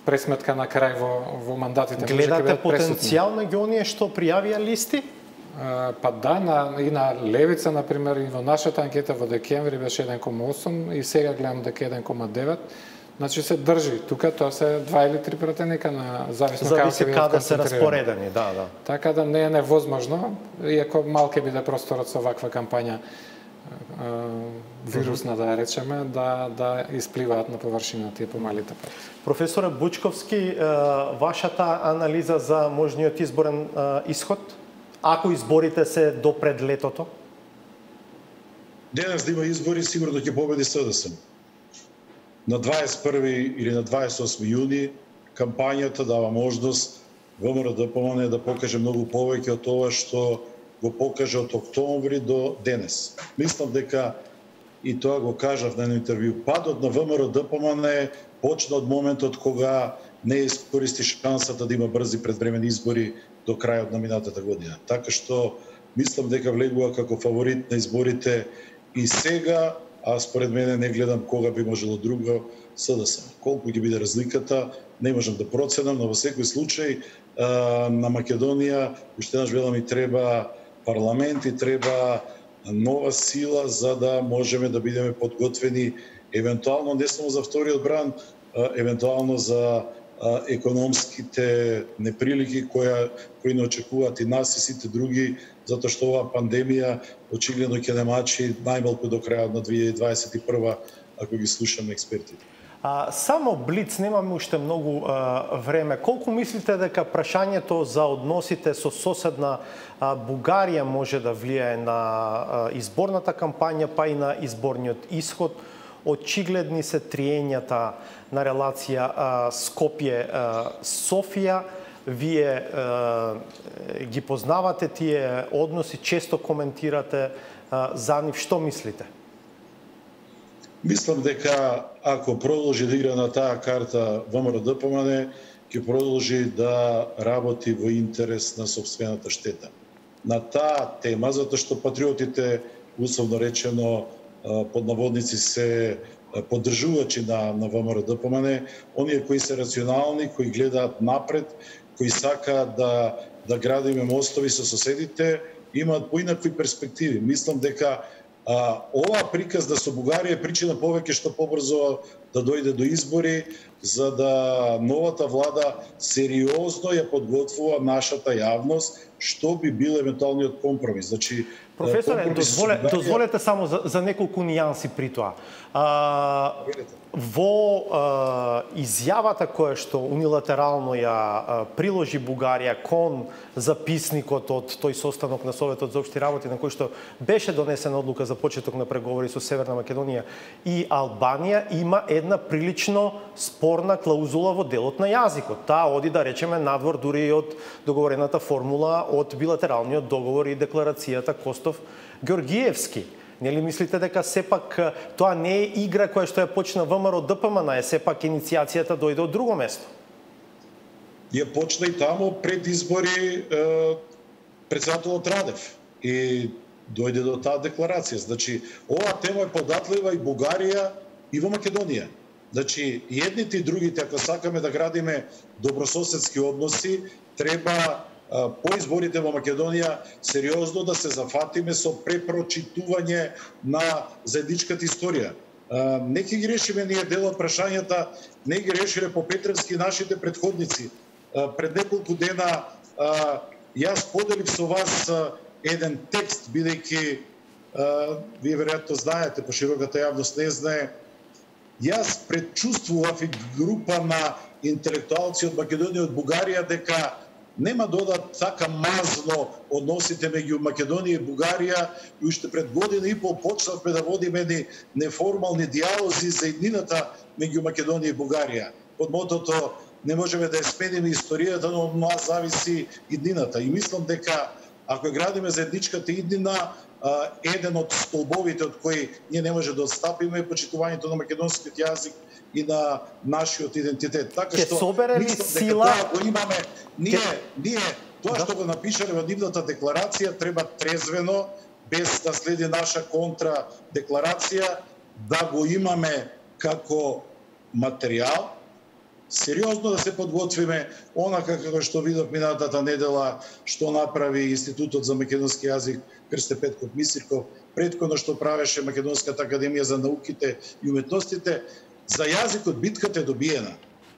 пресметка на крај во, во мандатите. Гледате потенцијал меѓу оние што пријавија листи? Uh, па да, на, и на Левица, например, и во нашата анкета во декември беше еден кома осум и сега гледам дека еден кома девет. Значи се држи. Тука тоа се два или три пратеника на зависно Зависи каде се распоредени, да, да. Така да не е невозможно, иако малку биде просторот со ваква кампања вирусна, да речеме, да, да испливаат на површина тие помалите партии. Професоре Бучковски, вашата анализа за можниот изборен исход? Ако изборите се до пред летото? Денес да има избори, сигурно ќе победи СДСМ. На дваесет и први или на дваесет и осми јуни кампањата дава можност ВМРО ДПМН да покаже многу повеќе од тоа што го покаже од октомври до денес. Мислам дека, и тоа го кажав на едно интервју, падот на ВМРО ДПМН почна од моментот кога не искористи шансата да има брзи предвремени избори до крајот на минатата година. Така што мислам дека влегува како фаворит на изборите и сега, а според мене не гледам кога би можело друго СДСМ. Колку ќе биде разликата, не можам да проценам, но во секој случај на Македонија уште еднаш велам и треба парламент и треба нова сила за да можеме да бидеме подготвени евентуално не само за вториот бран, евентуално за економските неприлики која кои не очекуваат и нас и сите други, затоа што оваа пандемија очигледно ќе немачи најмалку до крајот на две илјади дваесет и прва, ако ги слушаме експертите. А, само блиц, немаме уште многу а, време. Колку мислите дека прашањето за односите со соседна а, Бугарија може да влијае на а, изборната кампања, па и на изборниот исход? Очигледни се триењата на релација Скопје-Софија. Вие а, ги познавате тие односи, често коментирате а, за нив. Што мислите? Мислам дека ако продолжи да игра на таа карта ВМРО-ДПМН, ќе продолжи да работи во интерес на сопствената штета. На таа тема, затоа што патриотите, условно речено, под наводници се поддржувачи на, на ВМРО-ДПМН, оние кои се рационални, кои гледаат напред, кои сакаат да, да градиме мостови со соседите, имаат поинакви перспективи. Мислам дека А, оваа приказна со Бугарија е причина повеќе што побрзо да дојде до избори, за да новата влада сериозно ја подготвува нашата јавност, што би бил евентуалниот компромис. Значи, професоре, дозволе, Бугарија... дозволете само за, за неколку нијанси при тоа. А, во а, изјавата која што унилатерално ја а, приложи Бугарија кон записникот од тој состанок на Советот за општи работи на кој што беше донесена одлука за почеток на преговори со Северна Македонија и Албанија, има една прилично спорна клаузула во делот на јазикот. Таа оди, да речеме, надвор дури и од договорената формула од билатералниот договор и декларацијата Костов-Георгиевски. Нели мислите дека сепак тоа не е игра која што ја почна ВМРО-ДПМН, е сепак иницијацијата дојде од друго место? Ја почна и таму пред избори председателот Радев и дојде до таа декларација. Значи, оваа тема е податлива и Бугарија и во Македонија. Значи, едните и другите, ако сакаме да градиме добрососедски односи, треба по изборите во Македонија сериозно да се зафатиме со препрочитување на заедничката историја. Не ќе ги решиме ние дел од прашањата, не ги решиле по Петревски нашите предходници. Пред неколку дена јас поделив со вас еден текст, бидејќи вие веројатно знаете, по широката јавност не знае, јас предчувствував и група на интелектуалци од Македонија, од Бугарија, дека нема да одат така мазно односите меѓу Македонија и Бугарија, и уште пред година и пол почнавме да водиме едни неформални диалози за иднината меѓу Македонија и Бугарија. Под мотото не можеме да ја смениме историјата, но од нас зависи иднината. И мислам дека ако градиме заедничката иднина, еден од столбовите од кои ние не може да отстапиме е почитувањето на македонскиот јазик и на нашиот идентитет. Така што собере ли сила го имаме, ние ние тоа што го напишале во нивната декларација треба трезвено, без да следи наша контра декларација, да го имаме како материјал, сериозно да се подготвиме, онака како што видов минатата недела што направи Институтот за македонски јазик Крсте Петков Мисирков, претходно што правеше Македонската академија за науките и уметностите. За јазикот битката е добиена.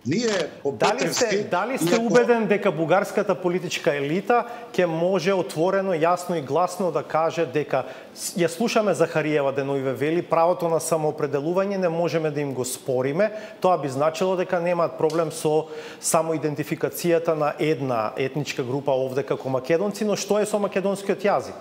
Ние по Дали сте, дали сте убеден дека бугарската политичка елита ќе може отворено, јасно и гласно да каже дека ја слушаме Захариева деновиве вели правото на самоопределување не можеме да им го спориме, тоа би значило дека немаат проблем со самоидентификацијата на една етничка група овде како македонци, но што е со македонскиот јазик?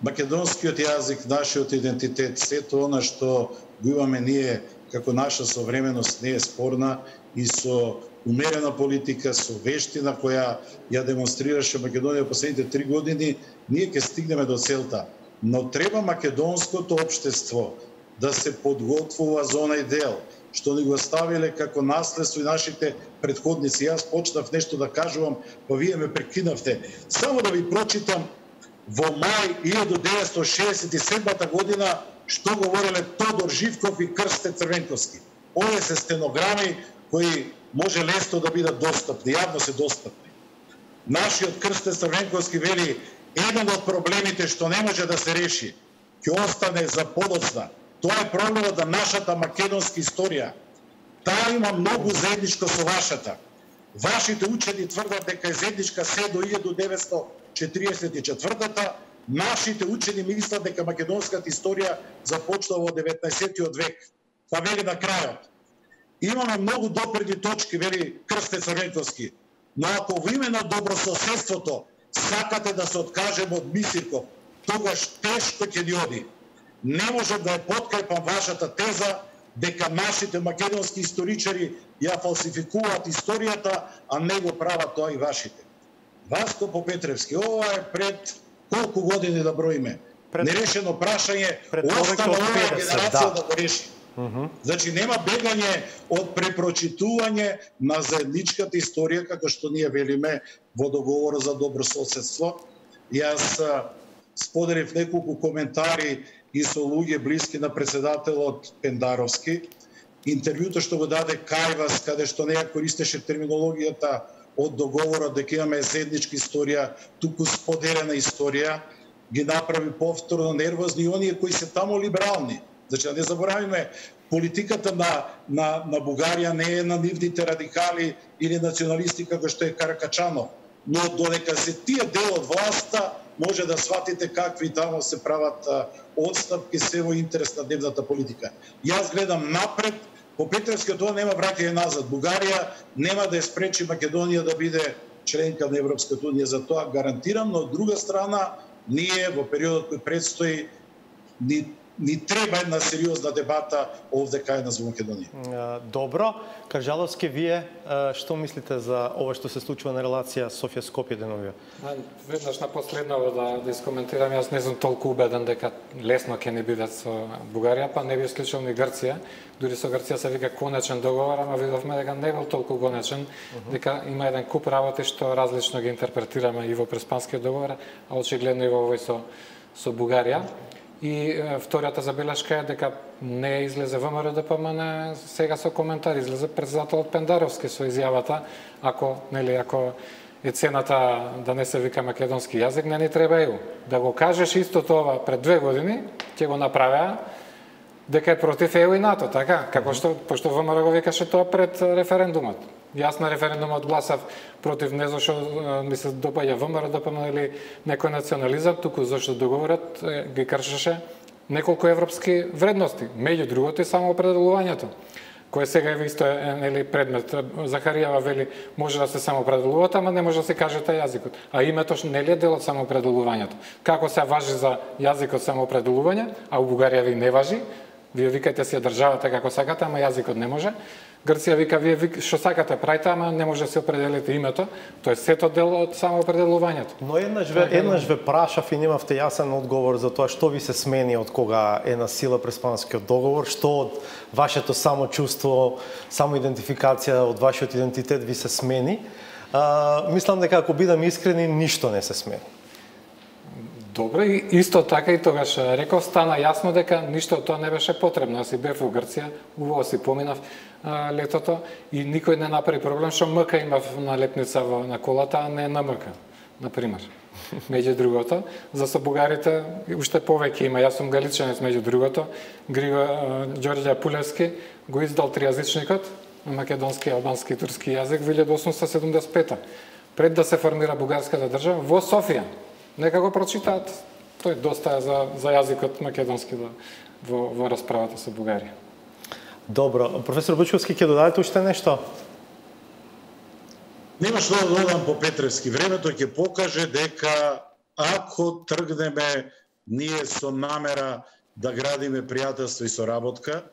Македонскиот јазик, нашиот идентитет, сето она што го имаме ние како наша современост не е спорна и со умерена политика, со вештина која ја демонстрираше Македонија последните три години, ние ќе стигнеме до целта. Но треба македонското општество да се подготвува за онај дел што ни го оставиле како наследство и нашите предходници. Јас почнав нешто да кажувам, па вие ме прекинавте. Само да ви прочитам во мај илјадум деветстотини шеесет и седма година што говореле Тодор Живков и Крсте Црвенковски. Овие се стенограми кои може лесно да бидат достапни, јавно се достапни. Нашиот Крсте Црвенковски вели, еден од проблемите што не може да се реши, ќе остане за подоцна. Тоа е проблемот на нашата македонска историја. Таа има многу заедничко со вашата. Вашите учени тврдат дека е заедничка се до илјада деветстотини четириесет и четвртата, нашите учени мислат дека македонската историја започнува во деветнаесеттиот век. Па вели на крајот. Имаме многу допирни точки, вели Крсте Црвенковски, но ако во име на добрососедството сакате да се откажеме од Мисирков, тогаш тешко ќе ни оди. Не можам да ја подкрепам вашата теза дека нашите македонски историчари ја фалсификуваат историјата, а не го прават тоа и вашите. Васко Попетревски, ова е пред колку години да броиме? Пред... Нерешено прашање, остана оваа генерација да. да го реши. Uh -huh. Значи нема бегање од препрочитување на заедничката историја, како што ние велиме во договорот за добрососедство. Јас споделив неколку коментари и со луѓе блиски на председателот Пендаровски. Интервјуто што го даде Кајвас, каде што не ја користеше терминологијата од договорот дека имаме заедничка историја, туку споделена историја, ги направи повторно нервозни и оние кои се таму либерални. Значи, да не заборавиме, политиката на, на, на Бугарија не е на нивните радикали или националисти, како што е Каракачанов. Но додека се тие дел од власта, може да сватите какви таму се прават одстапки, се во интерес на дневната политика. Јас гледам напред, по Петревски тоа нема враќање назад. Бугарија нема да ја спречи Македонија да биде членка на Европската унија, за тоа гарантирам, но од друга страна, ние во периодот кој предстои ни ни треба една сериозна дебата овде кај нас во Македонија. Добро. Каржаловски, вие што мислите за ова што се случува на релација Софија-Скопје деновија? Веднаш на последново да, да искоментирам, јас не сум толку убеден дека лесно ќе не бидат со Бугарија, па не би исклучил ни Грција. Дури со Грција се вика конечен договор, ама видовме дека не бил толку конечен, uh -huh. дека има еден куп работи што различно ги интерпретираме и во Преспанскиот договор, а очигледно и во овој со, со Бугарија. И е, втората забелешка е дека не излезе ВМРО Д П М Н сега со коментар, излезе председателот Пендаровски со изјавата, ако, нели, ако е цената да не се вика македонски јазик, не ни треба ЕУ. Да го кажеш исто тоа пред две години, ќе го направеа дека е против ЕУ и НАТО, така? Како што, пошто ВМРО го викаше тоа пред референдумот. Јас на референдумот гласав против не зашто ми се допаѓа ВМРО Д П М или некој национализам, туку зашто договорот ги кршеше неколку европски вредности, меѓу другото и самоопределувањето, кое сега е исто е нели предмет. Захаријава вели може да се самоопределуваат, ама не може да се каже тај јазикот. А името нели е дел од самоопределувањето. Како се важи за јазикот самоопределување, а у Бугарија ви не важи, вие викајте си ја државата како сакате, ама јазикот не може. Грција вика, вие што сакате прајте, ама не може да се определите името, тоа е сето дел од самоопределувањето. Но еднаш ве, еднаш ве прашав и немавте јасен одговор за тоа што ви се смени од кога е на сила Преспанскиот договор, што од вашето самочувство, самоидентификација, од вашиот идентитет ви се смени. А, мислам дека ако бидам искрени, ништо не се смени. Добро, и исто така и тогаш реков, стана јасно дека ништо од тоа не беше потребно. Јас и бев во Грција, убаво си поминав а, летото и никој не направи проблем што МК имав налепница во, на колата, а не на МК, например. Меѓу другото, за со бугарите уште повеќе има. Јас сум галичанец меѓу другото. Григо Ѓорѓе Пулевски го издал тријазичникот на македонски, албански и турски јазик во илјада осумстотини седумдесет и пета. Пред да се формира бугарската држава во Софија. Нека го прочитаат. Тој доста е за, за јазикот македонски во, во расправата со Бугарија. Добро. Професор Бучковски, ќе додадете уште нешто? Нема што да додам по Петревски. Времето ќе покаже дека ако тргнеме ние со намера да градиме пријателство и соработка,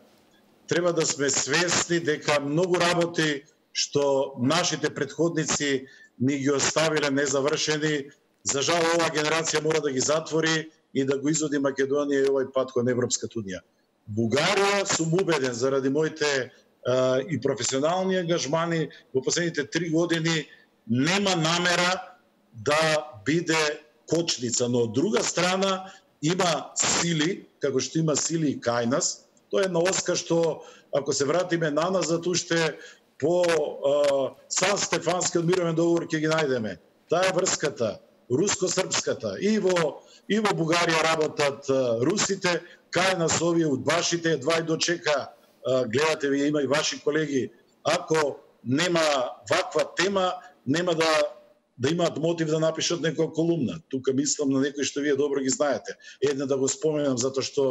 треба да сме свесни дека многу работи што нашите претходници ни ги оставиле незавршени, за жал оваа генерација мора да ги затвори и да го изводи Македонија и овој пат кон Европската унија. Бугарија, сум убеден, заради моите а, и професионални ангажмани во последните три години, нема намера да биде кочница, но од друга страна има сили, како што има сили и кај нас. Тоа е една оска што ако се вратиме наназад уште по Сан Стефански од мировен договор ќе ги најдеме. Таа е врската, руско-српската. И во и во Бугарија работат русите, кај нас овие удбашите, едва и дочека, гледате вие, има и ваши колеги, ако нема ваква тема, нема да да имаат мотив да напишат некоја колумна. Тука мислам на некој што вие добро ги знаете. Една да го споменам, затоа што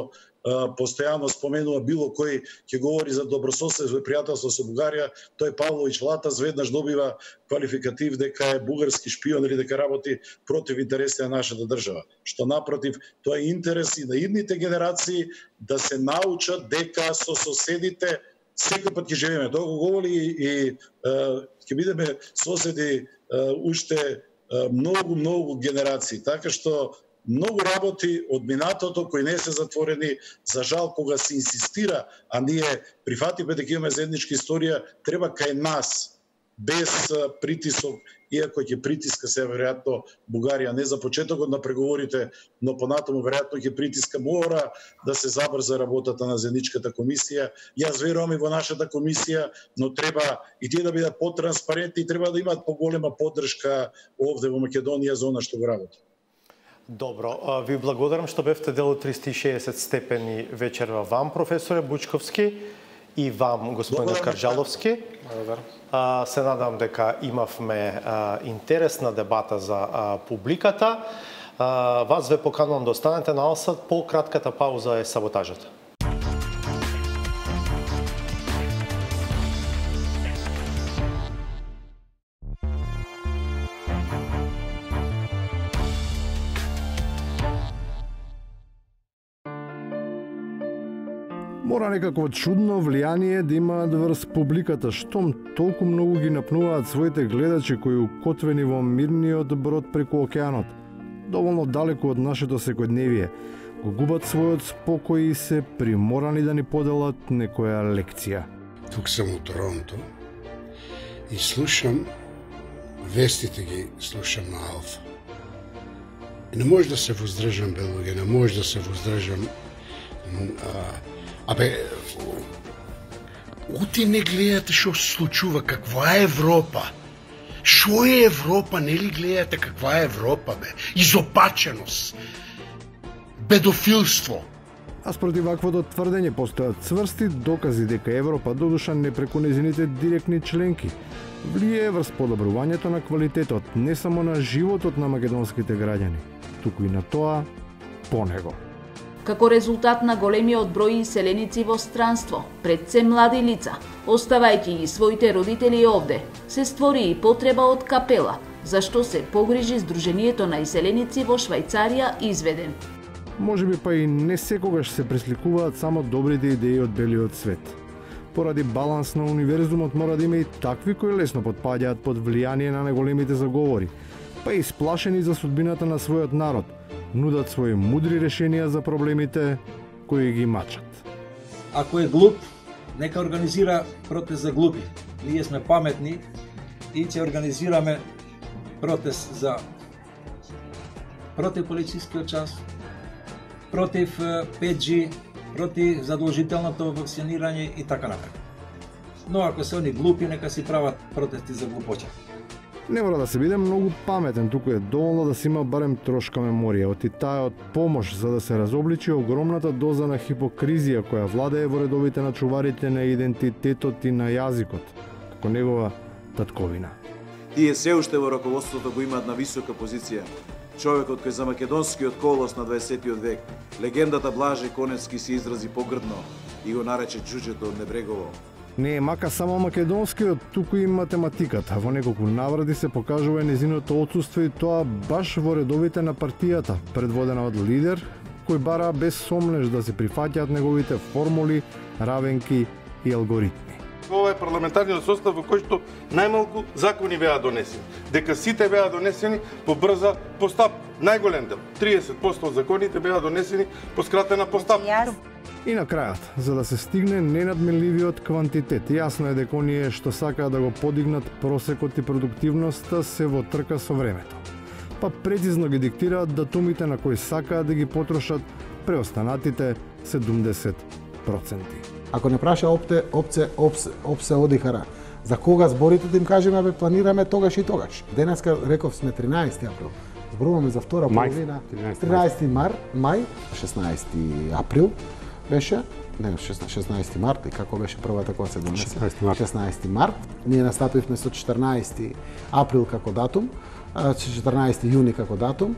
а, постојано споменува било кој ќе говори за добрососедство и пријателство со Бугарија, тој Павловиќ Латаз веднаш добива квалификатив дека е бугарски шпион или дека работи против интереси на нашата држава. Што напротив, тоа е интерес и на идните генерации да се научат дека со соседите секој пат ќе живееме. Тоа го говори и ќе бидеме соседи уште многу, многу генерации. Така што многу работи од минатото кои не се затворени, за жал кога се инсистира, а ние прифатиме дека имаме заедничка историја, треба кај нас, без притисок, иако ќе притиска се веројатно Бугарија не за почетокот на преговорите, но понатаму веројатно ќе притиска, мора да се забрза работата на заедничката комисија. Јас верувам и во нашата комисија, но треба и тие да бидат потранспарентни и треба да имаат поголема поддршка овде во Македонија за она што го работи. Добро, ви благодарам што бевте дел од триста и шеесет степени вечерва вам, професоре Бучковски, и вам, господине Карджаловски. А, се надам дека имавме а, интересна дебата за а, публиката. А, вас ве поканувам да останете на Алсат, по кратката пауза е саботажата. Мора некако чудно влијание да имаат врз публиката, штом толку многу ги напнуваат своите гледачи кои укотвени во мирниот брод преку океанот, доволно далеку од нашето секојдневие, го губат својот спокој и се приморани да ни поделат некоја лекција. Тук сум у Торонто и слушам вестите ги слушам на Алфа. И не може да се воздржам, белуѓе, не може да се воздржам. Абе, оти не гледате што се случува, каква е Европа? Шо е Европа, нели гледате каква е Европа, бе? Изопаченост, бедофилство. А спротив ваквото тврдење постојат цврсти докази дека Европа, додуша не преку незините директни членки, влијае врз подобрувањето на квалитетот не само на животот на македонските граѓани, туку и на тоа по него. Како резултат на големиот број иселеници во странство, пред се млади лица, оставајќи ги своите родители овде, се створи и потреба од капела, зашто се погрижи Сдруженијето на иселеници во Швајцарија изведен. Може би па и не секогаш се пресликуваат само добрите идеи од белиот свет. Поради баланс на универзумот мора да има и такви кои лесно потпаѓаат под влијание на наголемите заговори, па и сплашени за судбината на својот народ, нудат своји мудри решенија за проблемите кои ги мачат. Ако е глуп, нека организира протест за глупи. Ние сме паметни и ќе организираме протест за против полицискиот час, против пет джи, против задолжителното вакцинирање и така натаму. Но ако се они глупи, нека си прават протести за глупоќа. Не мора да се биде многу паметен, туку е доволно да се има барем трошка меморија, оти таа од помош за да се разобличи огромната доза на хипокризија која владее во редовите на чуварите на идентитетот и на јазикот, како негова татковина. Тие се уште во раководството го имаат на висока позиција. Човекот кој за македонскиот колос на дваесеттиот век, легендата Блаже Конецки се изрази погрдно и го нарече џуџето од Небрегово. Не е мака само македонскиот, туку и математиката. Во неколку наврати се покажува незиното отсуство и тоа баш во редовите на партијата, предводена од лидер, кој бара без сомнеш да се прифаќаат неговите формули, равенки и алгоритми. Ова е парламентарниот состав во кој што најмалку закони беа донесени. Дека сите беа донесени по брза постапка. Најголем дел, триесет проценти од законите беа донесени по скратена постапка. И на крајот, за да се стигне ненадминливиот квантитет, јасно е дека оние што сакаат да го подигнат просекот и продуктивноста се во трка со времето. Па прецизно ги диктираат датумите на кои сакаат да ги потрошат преостанатите седумдесет проценти. Ако не праша опте, опце, опсе, опсе одихара, за кога зборите да им кажеме, бе, планираме тогаш и тогаш. Денеска, реков, сме тринаесети април. Зборуваме за втора половина. тринаесети мар, мај, шеснаесети април беше, не, шеснаесети март, и како беше првата кога се донесе? шеснаесети март. шеснаесети март. Ние настапивме со четрнаесети април како датум, четрнаесети јуни како датум.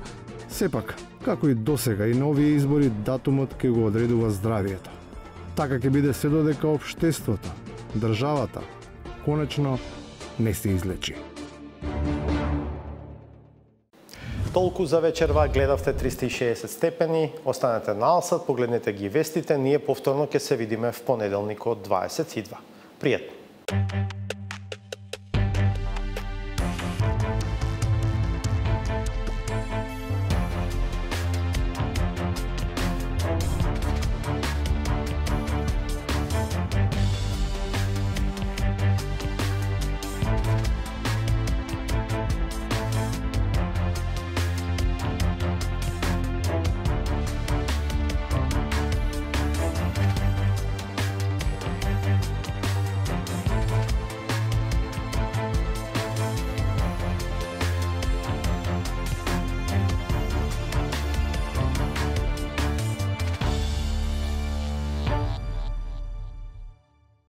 Сепак, како и досега и на овие избори, датумот ќе го одредува здравието. Така ќе биде се додека општеството, државата, конечно не се излечи. Толку за вечерва, гледавте триста и шеесет степени, останете на Алсат, погледнете ги вестите, ние повторно ќе се видиме в понеделник од дваесет и два. Пријатно!